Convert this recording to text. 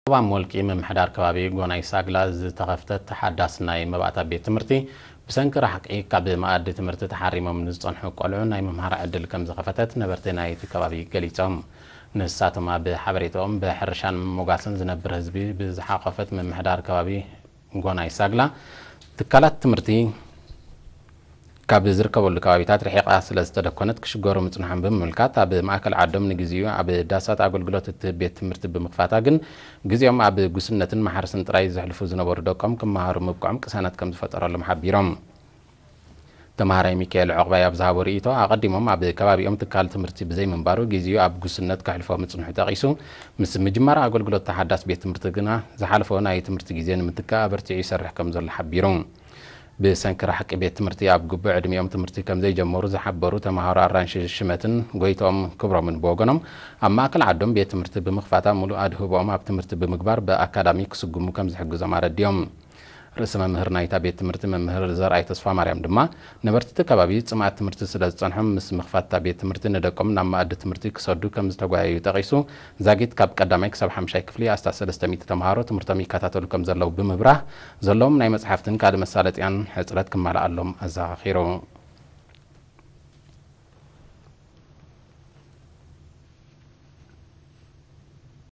ዞባ ሞልቂ ምምሕዳር ከባቢ ጎናይ ሳግላ ዝተኸፍተት ሓዳስ ናይ መባእታ ቤት ትምህርቲ ብሰንኪ ራሕቂ ካብ መኣዲ ትምህርቲ ተሓሪሞም ንዝጸንሑ ቆልዑ ናይ ምምሃር ዕድል ከም ዝኸፈተት ነበርቲ ናይቲ ከባቢ ገሊጾም። ንሳቶም ኣብ ሓበሬታኦም ብሕርሻን ምሞጋስን ዝነብር ህዝቢ ብዝሓቆፈት ምምሕዳር ከባቢ ጎናይ ሳግላ ትካላት ትምህርቲ ካብ ዝርከበሉ ከባቢታት ርሒቓ ስለ ዝተደኮነት ክሽገሩ ምጽንሖም ብምምልካት ኣብ ማእከል ዓዶም ንግዚኡ ኣብ ዳሳት ኣገልግሎት እትህብ ቤት ትምህርቲ ብምኽፋታ ግን ግዜኦም ኣብ ጉስነትን ማሕረስን ጥራይ ዘሕልፉ ዝነበሩ ደቆም ክመሃሩ ምብቅዖም ቅሳነት ከም ዝፈጠረሎም ሓቢሮም። ተምሃራይ ሚካኤል ዑቕባይ ኣብ ዝሃቦ ርእይቶ ኣቐዲሞም ኣብ ከባቢኦም ትካል ትምህርቲ ብዘይምንባሩ ግዜኡ ኣብ ጉስነት ከሕልፎ ምጽንሑ ጠቒሱ ምስ ምጅማር ኣገልግሎት ተሓዳስ ቤት ትምህርቲ ግና ዝሓለፎ ናይ ትምህርቲ ግዜ ንምትካእ ኣበርቲዑ ይሰርሕ ከም ዘሎ ሓቢሩ። ብሰንኪ ራሕቂ ቤት ትምህርቲ ኣብ ግቡእ ዕድሚኦም ትምህርቲ ከም ዘይጀመሩ ዝሓበሩ ተምሃሮ ኣራንሺ ሽመትን ጎይትኦም ክብሮምን ብወገኖም ኣብ ማእከል ዓዶም ቤት ትምህርቲ ብምኽፋታ ሙሉእ ኣድህቦኦም ኣብ ትምህርቲ ብምግባር ብኣካዳሚ ክስጉሙ ከም ዝሕግዞም ኣረዲኦም። ርእሲ መምህር ናይታ ቤት ትምህርቲ መምህር ዘርኣይ ተስፋ ማርያም ድማ ነበርቲ እቲ ከባቢ ጽምኣት ትምህርቲ ስለ ዝጸንሖም ምስ ምኽፋት እታ ቤት ትምህርቲ ንደቆም ናብ መኣዲ ትምህርቲ ክሰዱ ከም ዝተጓየዩ ጠቒሱ ዛጊት ካብ ቀዳማይ ክሳብ ሓምሻይ ክፍሊ ኣስታት ሰለስተ ሚእቲ ተምሃሮ ትምህርቶም ይከታተሉ ከም ዘለዉ ብምብራህ ዘለዎም ናይ መጽሓፍትን ካልእ መሳለጥያን ሕጽረት ክማልኣሎም ኣዘኻኺሩ።